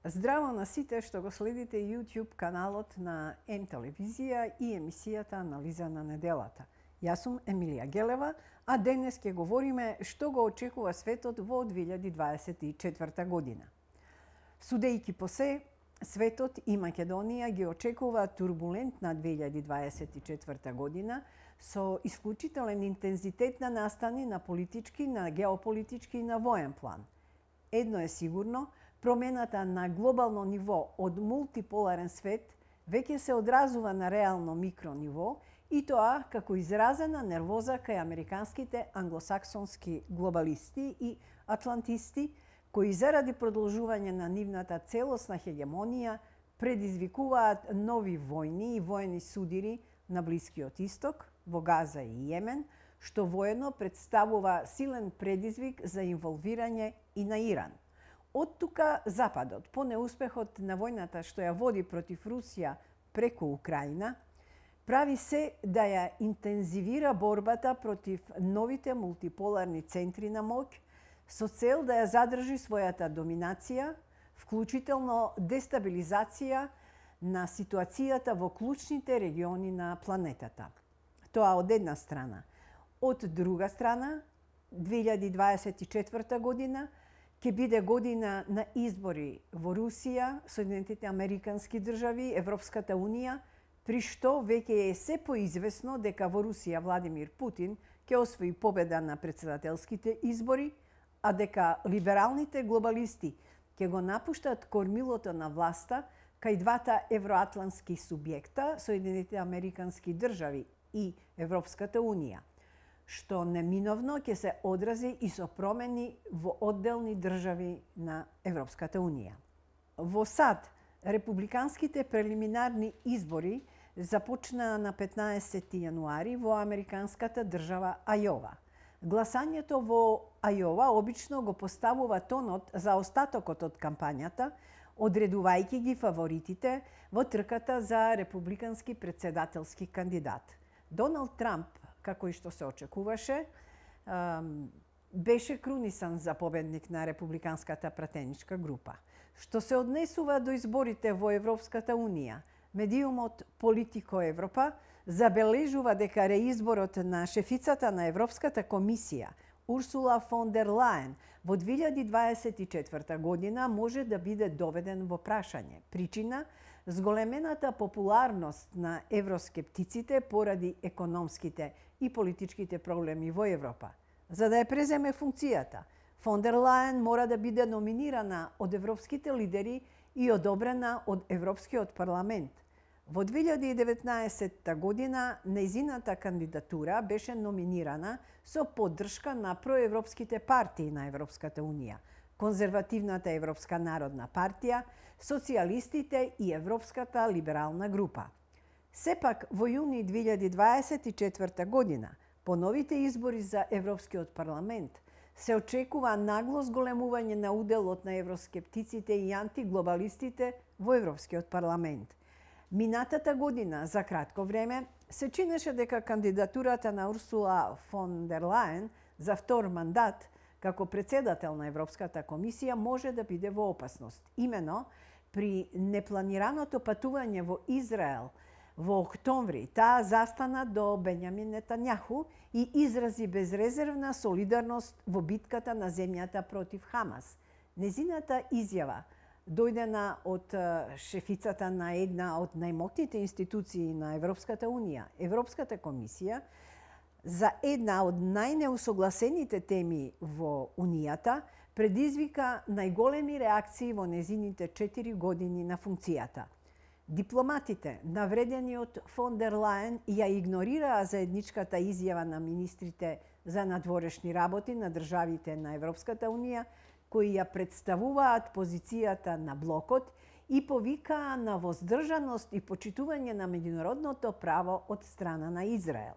Здраво на сите што го следите YouTube каналот на М телевизија и емисијата Анализа на неделата. Јас сум Емилија Гелева, а денес ќе говориме што го очекува светот во 2024 година. Судејќи по се, светот и Македонија ги очекува турбулентна 2024 година со исклучителен интензитет на настани на политички, на геополитички и на воен план. Едно е сигурно, промената на глобално ниво од мултиполарен свет веќе се одразува на реално микро ниво и тоа како изразена нервоза кај американските англосаксонски глобалисти и атлантисти кои заради продолжување на нивната целосна хегемонија предизвикуваат нови војни и воени судири на Блискиот Исток, во Газа и Јемен, што воедно представува силен предизвик за инволвирање и на Иран. Од тука Западот, по неуспехот на војната што ја води против Русија преку Украина, прави се да ја интензивира борбата против новите мултиполарни центри на моќ со цел да ја задржи својата доминација, вклучително дестабилизација на ситуацијата во клучните региони на планетата. Тоа од една страна. Од друга страна, 2024 година ќе биде година на избори во Русија, Соединетите Американски држави, Европската Унија, при што веќе е се поизвестно дека во Русија Владимир Путин ќе освои победа на претседателските избори, а дека либералните глобалисти ќе го напуштат кормилото на власта кај двата евроатлантски субјекта, Соединетите Американски држави и Европската Унија, што неминовно ќе се одрази и со промени во одделни држави на Европската Унија. Во САД, републиканските прелиминарни избори започнаа на 15 јануари во американската држава Ајова. Гласањето во Ајова обично го поставува тонот за остатокот од кампањата, одредувајќи ги фаворитите во трката за републикански претседателски кандидат. Доналд Трамп, како и што се очекуваше, беше крунисан за победник на републиканската пратеничка група. Што се однесува до изборите во Европската Унија, медиумот Политико Европа забележува дека реизборот на шефицата на Европската комисија, Урсула фон дер Лајен, во 2024 година може да биде доведен во прашање. Причина – зголемената популарност на евроскептиците поради економските и политичките проблеми во Европа. За да ја преземе функцијата, фон дер Лајен мора да биде номинирана од европските лидери и одобрена од Европскиот парламент. Во 2019 година нејзината кандидатура беше номинирана со поддршка на проевропските партии на Европската Унија, Конзервативната Европска народна партија, социјалистите и Европската либерална група. Сепак, во јуни 2024 година, по новите избори за Европскиот парламент, се очекува нагло зголемување на уделот на евроскептиците и антиглобалистите во Европскиот парламент. Минатата година, за кратко време, се чинеше дека кандидатурата на Урсула фон дер Лајен за втор мандат како председател на Европската комисија може да биде во опасност. Имено, при непланираното патување во Израел во октомври, таа застана до Бенјамин Нетањаху и изрази безрезервна солидарност во битката на земјата против Хамас. Незината изјава, дојдена од шефицата на една од најмоќните институции на Европската Унија, Европската комисија, за една од најнеусогласените теми во Унијата, предизвика најголеми реакции во незините 4 години на функцијата. Дипломатите, навредени од фон дер Лајен, ја игнорираа заедничката изјава на министрите за надворешни работи на државите на Европската Унија, кои ја представуваат позицијата на блокот и повикаа на воздржаност и почитување на меѓународното право од страна на Израел.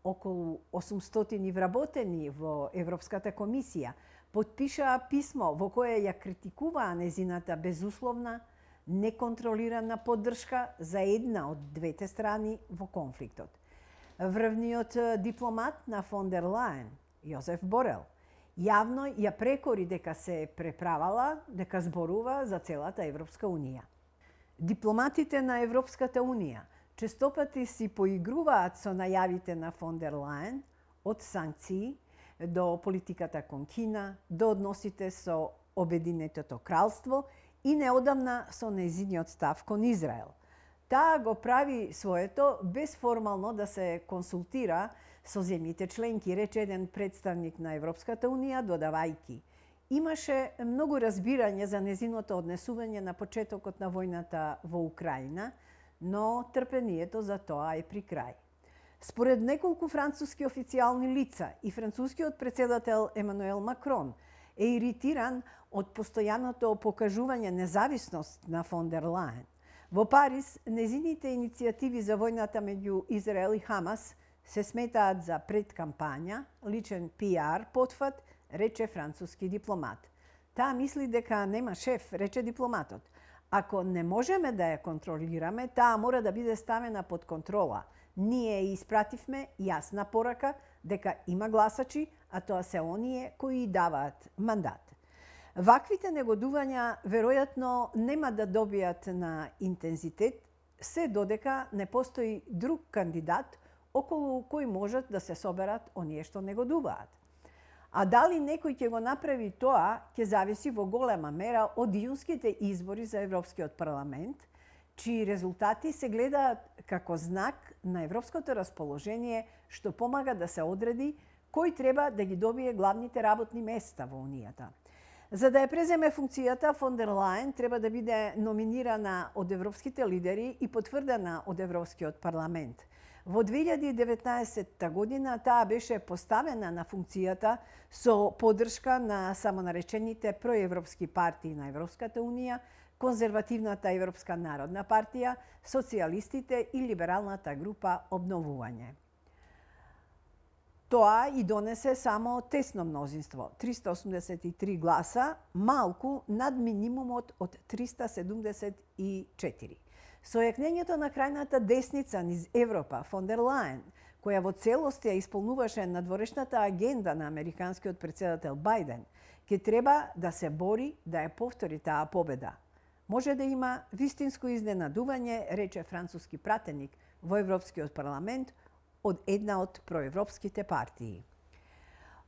Околу 800 вработени во Европската комисија потпишаа писмо во кое ја критикуваа незината безусловна, неконтролирана поддршка за една од двете страни во конфликтот. Врвниот дипломат на фон дер Лајен, Јозеф Борел, Јавно ја прекори дека се преправала, дека зборува за целата Европска Унија. Дипломатите на Европската Унија честопати си поигруваат со најавите на фон дер Лајен, од санкции до политиката кон Кина, до односите со Обединетото кралство и неодамна со нејзиниот став кон Израел. Таа го прави своето без формално да се консултира со земјите членки, рече еден представник на Европската Унија, додавајки: имаше многу разбирање за незиното однесување на почетокот на војната во Украина, но трпението за тоа е при крај. Според неколку француски официјални лица и францускиот председател Емануел Макрон е иритиран од постојаното покажување независност на фон дер Лајен. Во Париз, незините иницијативи за војната меѓу Израел и Хамас се сметаат за предкампања, личен PR потфат, рече француски дипломат. Таа мисли дека нема шеф, рече дипломатот. Ако не можеме да ја контролираме, таа мора да биде ставена под контрола. Ние испративме јасна порака дека има гласачи, а тоа се оние кои даваат мандат. Ваквите негодувања веројатно нема да добијат на интензитет, се додека не постои друг кандидат околу кој можат да се соберат оние што негодуваат. А дали некој ќе го направи тоа, ќе зависи во голема мера од иунските избори за Европскиот парламент, чии резултати се гледаат како знак на европското расположение што помага да се одреди кој треба да ги добие главните работни места во Унијата. За да ја преземе функцијата, фон дер Лајен треба да биде номинирана од европските лидери и потврдена од Европскиот парламент. Во 2019 година таа беше поставена на функцијата со поддршка на самонаречените проевропски партии на Европската Унија, Конзервативната Европска народна партија, социјалистите и либералната група Обновување. Тоа и донесе само тесно мнозинство, 383 гласа, малку над минимумот од 374. Со јакнењето на крајната десница низ Европа, фон дер Лајен, која во целост ја исполнуваше надворешната агенда на американскиот председател Бајден, ќе треба да се бори да ја повтори таа победа. Може да има вистинско изненадување, рече француски пратеник во Европскиот парламент од една од проевропските партии.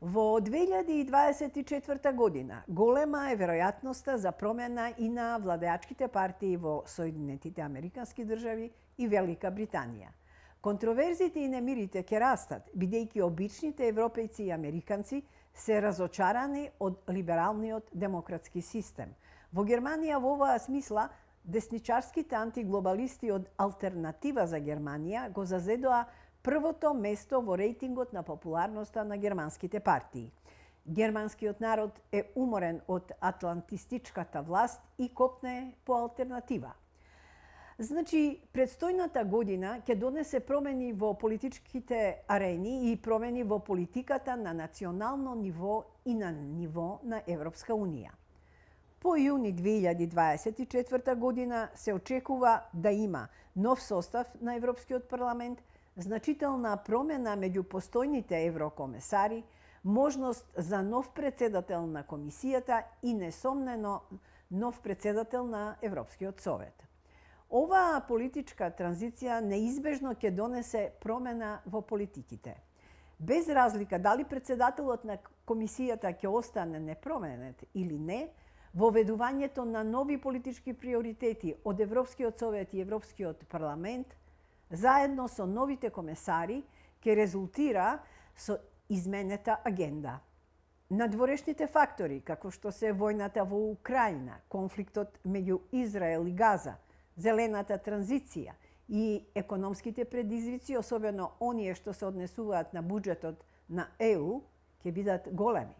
Во 2024 година голема е веројатноста за промена и на владеачките партии во Соединетите Американски држави и Велика Британија. Контроверзите и немирите ќе растат, бидејќи обичните европејци и американци се разочарани од либералниот демократски систем. Во Германија во оваа смисла десничарските антиглобалисти од Алтернатива за Германија го зазедоа првото место во рейтингот на популарноста на германските партии. Германскиот народ е уморен од атлантистичката власт и копне по алтернатива. Значи, предстојната година ќе донесе промени во политичките арени и промени во политиката на национално ниво и на ниво на Европска Унија. По јуни 2024 година се очекува да има нов состав на Европскиот парламент, значителна промена меѓу постојните еврокомесари, можност за нов председател на комисијата и несомнено нов председател на Европскиот совет. Оваа политичка транзиција неизбежно ќе донесе промена во политиките. Без разлика дали председателот на комисијата ќе остане непроменет или не, воведувањето на нови политички приоритети од Европскиот совет и Европскиот парламент заедно со новите комесари ќе резултира со изменета агенда. Надворешните фактори, како што се војната во Украина, конфликтот меѓу Израел и Газа, зелената транзиција и економските предизвици, особено оние што се однесуваат на буџетот на ЕУ, ќе бидат големи.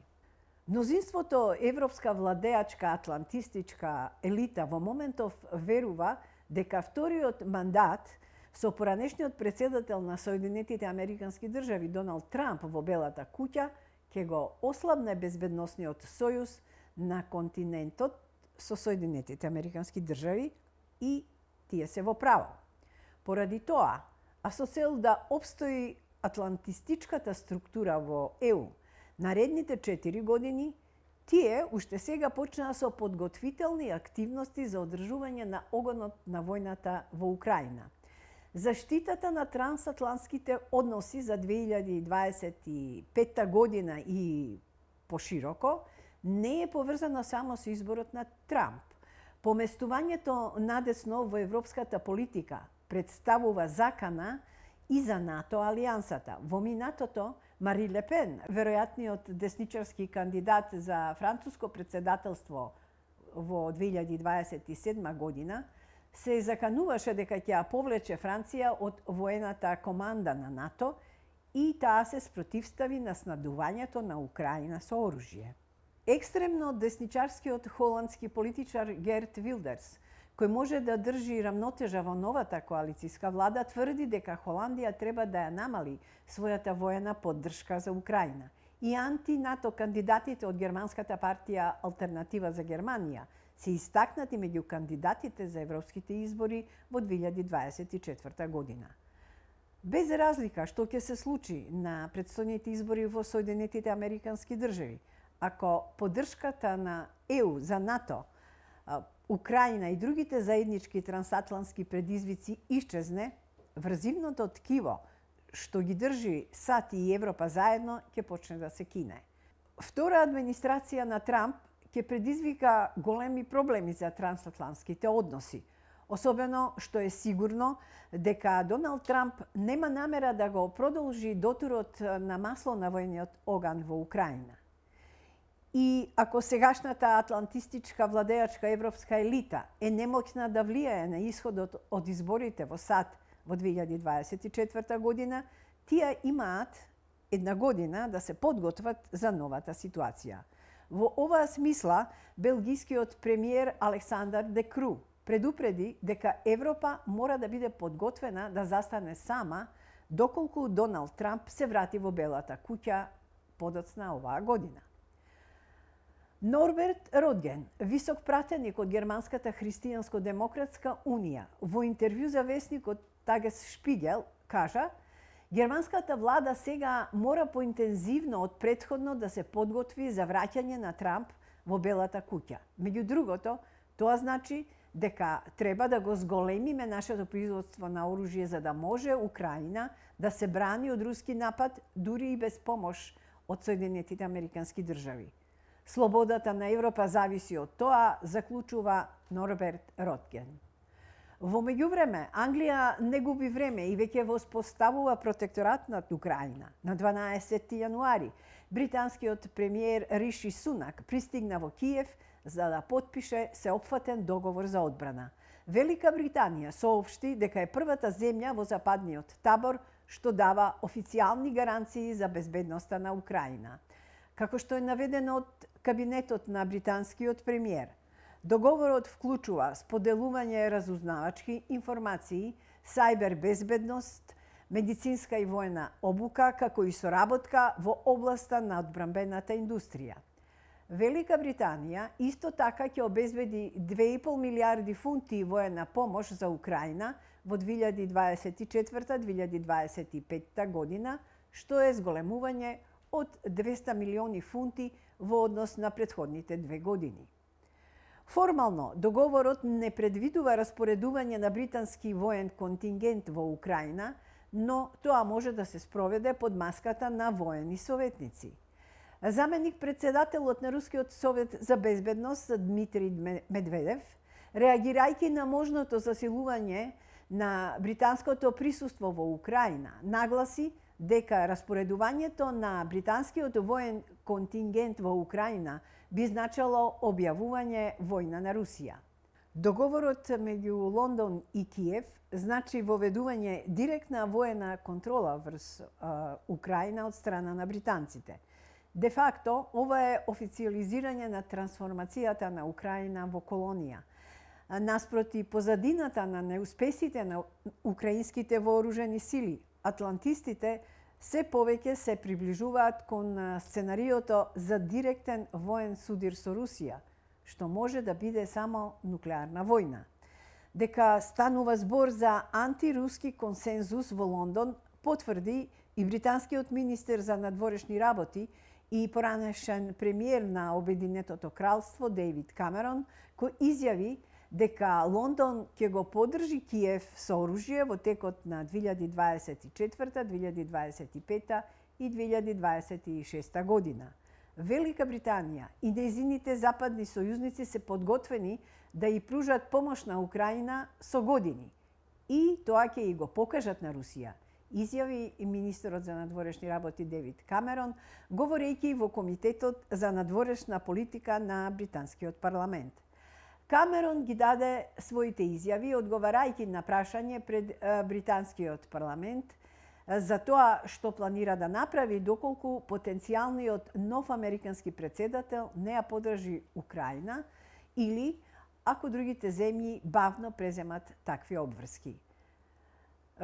Мнозинството европска владеачка атлантистичка елита во моментов верува дека вториот мандат со поранешниот председател на Соединетите Американски држави Доналд Трамп во Белата куќа ќе го ослабне безбедносниот сојуз на континентот со Соединетите Американски држави и тие се во право. Поради тоа, а со цел да опстои атлантистичката структура во ЕУ, Наредните 4 години, тие уште сега почнаа со подготвителни активности за одржување на огонот на војната во Украина. Заштитата на трансатлантските односи за 2025 година и пошироко не е поврзано само со изборот на Трамп. Поместувањето надесно во европската политика представува закана и за НАТО алијансата. Во минатото, Мари Ле Пен, веројатниот десничарски кандидат за француско председателство во 2027 година, се закануваше дека ќе ја повлече Франција од воената команда на НАТО и таа се спротивстави на снабдувањето на Украина со оружје. Екстремно десничарскиот холандски политичар Герт Вилдерс, кој може да држи рамнотежа во новата коалицијска влада, тврди дека Холандија треба да ја намали својата воена поддршка за Украина. И анти-НАТО кандидатите од германската партија Алтернатива за Германија се истакнати меѓу кандидатите за европските избори во 2024 година. Без разлика што ќе се случи на претстојните избори во Соединетите Американски држави, ако поддршката на ЕУ за НАТО, Украина и другите заеднички трансатлантски предизвици исчезне, врзивното ткиво што ги држи САД и Европа заедно ќе почне да се кине. Втора администрација на Трамп ќе предизвика големи проблеми за трансатлантските односи, особено што е сигурно дека Доналд Трамп нема намера да го продолжи дотурот на масло на војниот оган во Украина. И ако сегашната атлантистичка владеачка европска елита е немоќна да влијае на исходот од изборите во САД во 2024 година, тие имаат една година да се подготват за новата ситуација. Во оваа смисла, белгискиот премиер Александар Де Кру предупреди дека Европа мора да биде подготвена да застане сама доколку Доналд Трамп се врати во Белата куќа подоцна оваа година. Норберт Ротген, висок пратеник од Германската христијанско-демократска унија, во интервју за весникот Тагес Шпигел, кажа: германската влада сега мора поинтензивно од претходно да се подготви за враќање на Трамп во Белата куќа. Меѓу другото, тоа значи дека треба да го зголемиме нашето производство на оружје за да може Украина да се брани од руски напад дури и без помош од Соединетите Американски држави. Слободата на Европа зависи од тоа, заклучува Норберт Ротген. Во меѓувреме, Англија не губи време и веќе воспоставува протекторат над Украина. На 12 јануари, британскиот премиер Риши Сунак пристигна во Киев за да потпише сеопфатен договор за одбрана. Велика Британија соопшти дека е првата земја во западниот табор што дава официјални гаранции за безбедноста на Украина. Како што е наведено од кабинетот на британскиот премиер, договорот вклучува споделување разузнавачки информации, сајбер безбедност, медицинска и војна обука, како и соработка во областа на одбранбената индустрија. Велика Британија исто така ќе обезбеди 2,5 милиарди фунти воена помош за Украина во 2024-2025 година, што е зголемување од 200 милиони фунти во однос на претходните 2 години. Формално, договорот не предвидува распоредување на британски воен контингент во Украина, но тоа може да се спроведе под маската на воени советници. Заменик председателот на Рускиот совет за безбедност Дмитрий Медведев, реагирајќи на можното засилување на британското присуство во Украина, нагласи дека распоредувањето на британскиот воен контингент во Украина би значало објавување војна на Русија. Договорот меѓу Лондон и Киев значи воведување директна воена контрола врз Украина од страна на британците. Де факто, ова е официализирање на трансформацијата на Украина во колонија. Наспроти позадината на неуспесите на украинските вооружени сили, атлантистите се повеќе се приближуваат кон сценариото за директен воен судир со Русија, што може да биде само нуклеарна војна. Дека станува збор за антируски консензус во Лондон, потврди и британскиот министер за надворешни работи и поранешен премиер на Обединетото кралство Дејвид Камерон, кој изјави дека Лондон ќе го поддржи Киев со оружје во текот на 2024, 2025 и 2026 година. Велика Британија и нејзините западни сојузници се подготвени да ја пружат помош на Украина со години. И тоа ќе и го покажат на Русија, изјави и министерот за надворешни работи Дејвид Камерон, говорејќи во Комитетот за надворешна политика на британскиот парламент. Камерон ги даде своите изјави одговарајќи на прашање пред британскиот парламент за тоа што планира да направи доколку потенцијалниот нов американски претседател не ја поддржи Украина или ако другите земји бавно преземат такви обврски.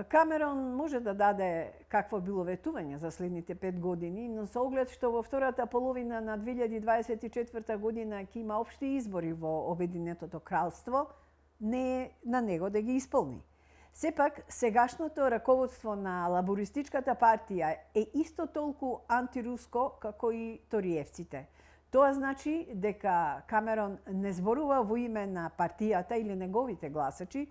Камерон може да даде какво било ветување за следните 5 години, но со оглед што во втората половина на 2024 година ќе има општи избори во Обединетото кралство, не е на него да ги исполни. Сепак, сегашното раководство на лабористичката партија е исто толку антируско како и ториевците. Тоа значи дека Камерон не зборува во име на партијата или неговите гласачи,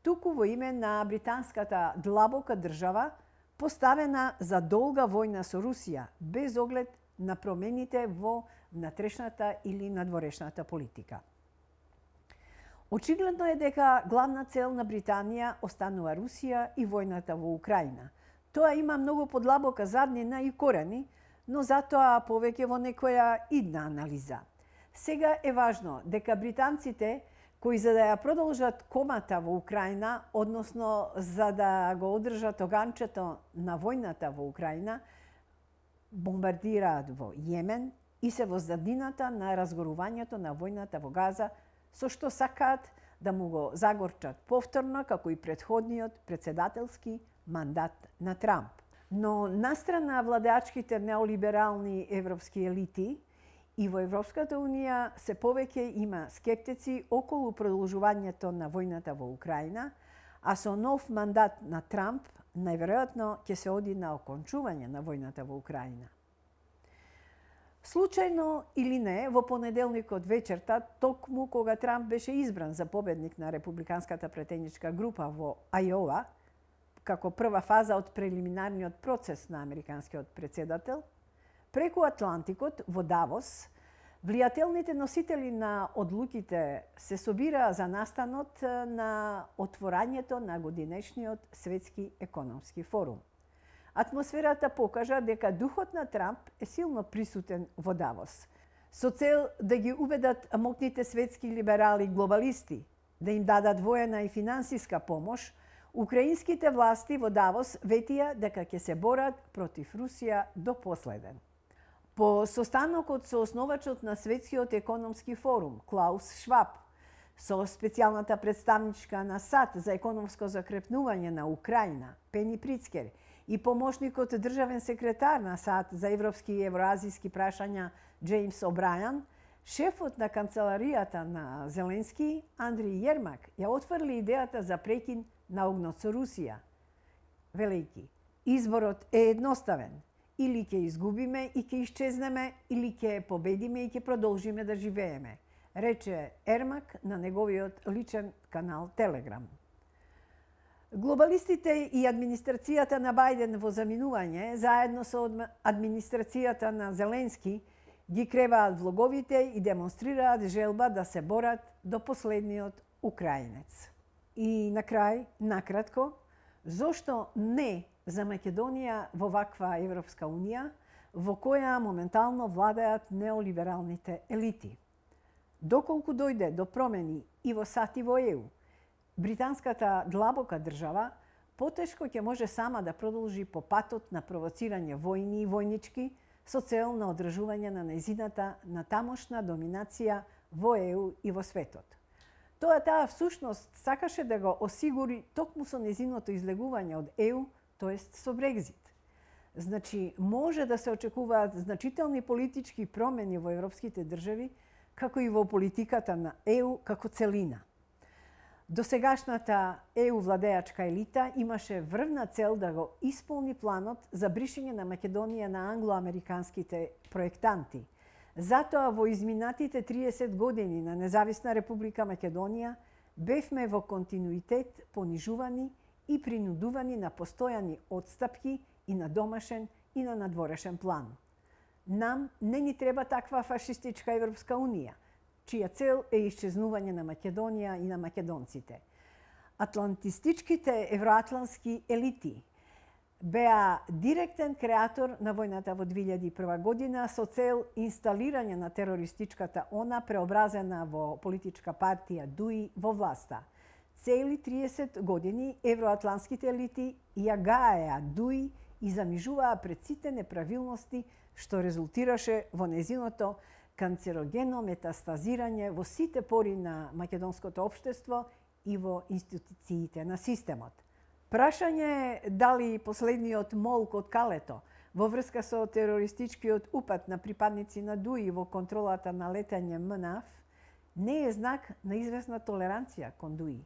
туку во име на британската длабока држава, поставена за долга војна со Русија, без оглед на промените во внатрешната или надворешната политика. Очигледно е дека главна цел на Британија останува Русија и војната во Украина. Тоа има многу подлабока заднина и корени, но затоа повеќе во некоја идна анализа. Сега е важно дека британците кои за да ја продолжат комата во Украина, односно за да го одржат оганчето на војната во Украина, бомбардираат во Јемен и се во заднината на разгорувањето на војната во Газа, со што сакаат да му го загорчат повторно, како и претходниот председателски мандат на Трамп. Но настрана владеачките неолиберални европски елити, и во Европската Унија се повеќе има скептици околу продолжувањето на војната во Украина, а со нов мандат на Трамп најверојатно ќе се оди на окончување на војната во Украина. Случајно или не, во понеделникот вечерта, токму кога Трамп беше избран за победник на републиканската претеничка група во Ајова, како прва фаза од прелиминарниот процес на американскиот претседател, преку Атлантикот во Давос, влијателните носители на одлуките се собираа за настанот на отворањето на годинешниот светски економски форум. Атмосферата покажа дека духот на Трамп е силно присутен во Давос, со цел да ги убедат мокните светски либерали глобалисти, да им дадат воена и финансиска помош. Украинските власти во Давос ветија дека ќе се борат против Русија до последен. По состанокот со основачот на Светскиот економски форум, Клаус Шваб, со специјалната представничка на САД за економско закрепнување на Украина, Пени Прицкер, и помошникот државен секретар на САД за европски и евроазиски прашања Джеймс О'Брајан, шефот на канцеларијата на Зеленски, Андри Јермак, ја отврли идејата за прекин на огнот со Русија, велејќи: изборот е едноставен, или ќе изгубиме и ќе исчезнеме, или ќе победиме и ќе продолжиме да живееме, рече Ермак на неговиот личен канал Телеграм. Глобалистите и администрацијата на Бајден во заминување, заедно со администрацијата на Зеленски, ги креваат влоговите и демонстрираат желба да се борат до последниот украинец. И на крај, накратко, зошто не за Македонија во ваква Европска Унија, во која моментално владеат неолибералните елити? Доколку дојде до промени и во САД и во ЕУ, британската длабока држава потешко ќе може сама да продолжи по патот на провоцирање војни и војнички со цел на одржување на нејзината натамошна доминација во ЕУ и во светот. Таа всушност сакаше да го осигури токму со нејзиното излегување од ЕУ, тоест со Брекзит. Значи, може да се очекуваат значителни политички промени во европските држави, како и во политиката на ЕУ како целина. Досегашната ЕУ владеачка елита имаше врвна цел да го исполни планот за бришење на Македонија на англоамериканските проектанти. Затоа во изминатите 30 години на независна Република Македонија бевме во континуитет понижувани и принудувани на постојани отстапки и на домашен и на надворешен план. Нам не ни треба таква фашистичка Европска унија, чија цел е исчезнување на Македонија и на македонците. Атлантистичките евроатлантски елити беа директен креатор на војната во 2001 година со цел инсталирање на терористичката ОНА преобразена во политичка партија ДУИ во власта. Цели 30 години евроатлантските елити ја гаеа ДУИ и замижуваа пред сите неправилности што резултираше во незиното канцерогено метастазирање во сите пори на македонското општество и во институциите на системот. Прашање е дали последниот молк од калето во врска со терористичкиот упад на припадници на ДУИ во контролата на летање МНАФ не е знак на известна толеранција кон ДУИ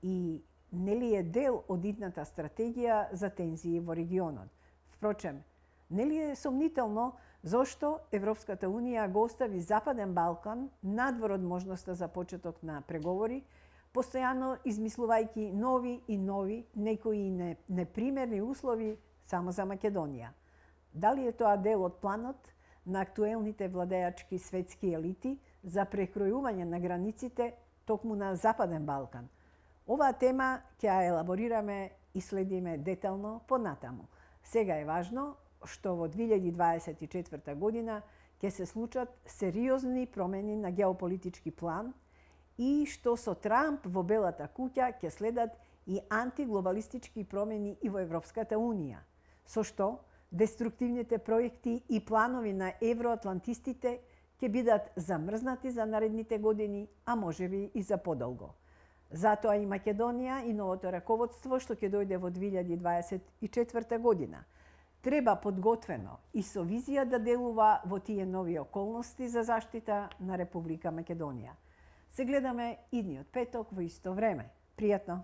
и нели е дел од идната стратегија за тензии во регионот. Впрочем, нели е сомнително зошто Европската унија го остави Западен Балкан надвор од можноста за почеток на преговори, постојано измислувајќи нови и нови, некои непримерни услови само за Македонија. Дали е тоа дел од планот на актуелните владеачки светски елити за прекројување на границите токму на Западен Балкан? Оваа тема ќе ја елаборираме и следиме детално понатаму. Сега е важно што во 2024 година ќе се случат сериозни промени на геополитички план и што со Трамп во Белата куќа ќе следат и антиглобалистички промени и во Европската унија, со што деструктивните проекти и планови на евроатлантистите ќе бидат замрзнати за наредните години, а можеби и за подолго. Затоа и Македонија и новото раководство што ќе дојде во 2024 година треба подготвено и со визија да делува во тие нови околности за заштита на Република Македонија. Се гледаме идниот петок во исто време. Пријатно!